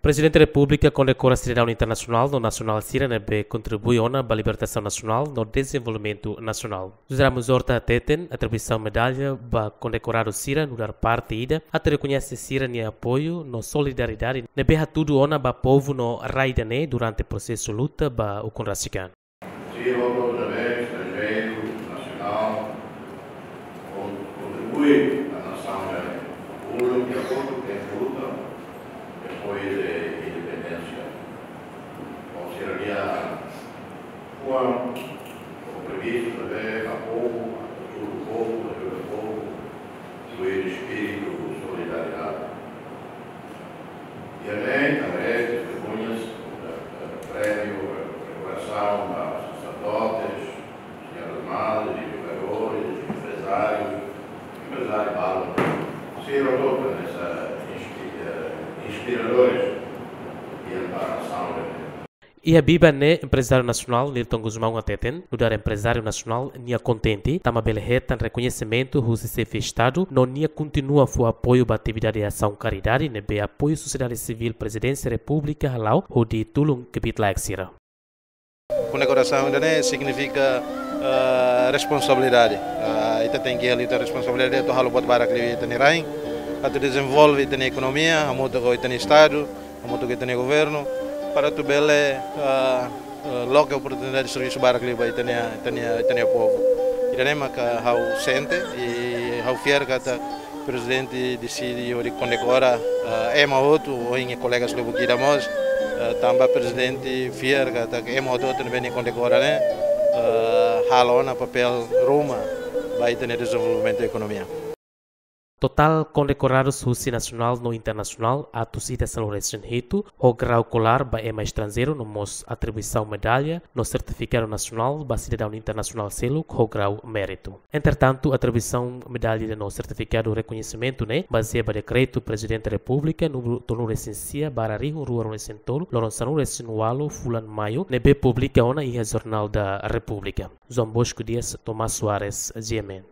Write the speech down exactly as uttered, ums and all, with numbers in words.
Prezidente Repúblika kondekora sidadaun internasionál no nasionál sira ne'ebé kontribui ona ba libertasaun nasionál no dezenvolvimentu nasionál. José Ramos Horta hateten, atribuisaun medalla ba kondekoradu sira nu'udar parte ida atu rekoñese sira-nia apoiu no solidariedade ne'ebé hatudu ona ba povu no rai ida-ne'e durante prosesu luta ba ukun rasik an. Sira hotu-hotu ne'ebé estranjeiru, nasionál, kon-, kontribui ba nasaun ida-ne'e. Públiku ke apoiu, ke luta, depois de independénsia. Ou seja, dia, kuan, o previstu ne'ebé, apoiu, apoiu povu, ajuda povu, incluir espíritu solidariedade. Dia ne'e, também, testemunhas, eh, prémiu, eh, dekorasaun ba saserdotes, señores madres, educadores, empresários, empresáriu balu. Sira hotu-hotu ne'e inspi-, eh, inspiradores, dia para nasaun ida-ne'e. Iha biban ne'e, emprezáriu nasionál Nilton Gusmão hateten, nu'udar emprezáriu nasionál nia kontente, tanba bele hetan rekoñesimentu husi xefe Estadu, no nia kontinua fó apoiu ba atividade asaun karidade ne'ebé apoiu sosiedade sivíl Prezidénsia Repúblika hala'o hodi tulun kbiit-laek sira. Kondekorasaun ida-ne'e signifika, eh, responsabilidade. Eh, ita tenke halo ita responsabilidade atu halo buat barak liu iha ita-nia rain, atu dezenvolve ita-nia ekonomia, hamutuk ho ita-nia Estadu, hamutuk ho ita-nia governu, para atu bele, ah, ah, loke oportunidade servisu barak liu ba ita-nia, ita-nia, ita-nia povu. Ida-ne'e maka ha'u sente, i ha'u fiar katak prezidente deside hodi kondekora, ah, ema hotu, ohin nia kolega lubuk ida mós, ah, tanba prezidente fiar katak ema hotu-hotu ne'ebé nia kondekora ne'e, ah, halo ona papél ruma ba ita-nia dezenvolvimentu ekonomia. Totál kondekoradus husi nasionál no internasionál atus ida sanulu-resin-hitu, ho grau kolár ba ema estranjeiru no mós atribuisaun medalla no sertifikadu nasionál ba sidadaun internasionál seluk ho grau méritu. Entretantu, atribuisaun medalla no sertifikadu rekoñesimentu ne'e bazeia ba dekretu Prezidente Repúblika númeru tolunulu-resin-sia barra rihun rua ruanulu-resin-tolu, loron sanulu-resin-ualu fulan Maiu, ne'ebé publika ona iha Jornál da Repúblika. João Bosco Dias, Tomás Soares, G M N.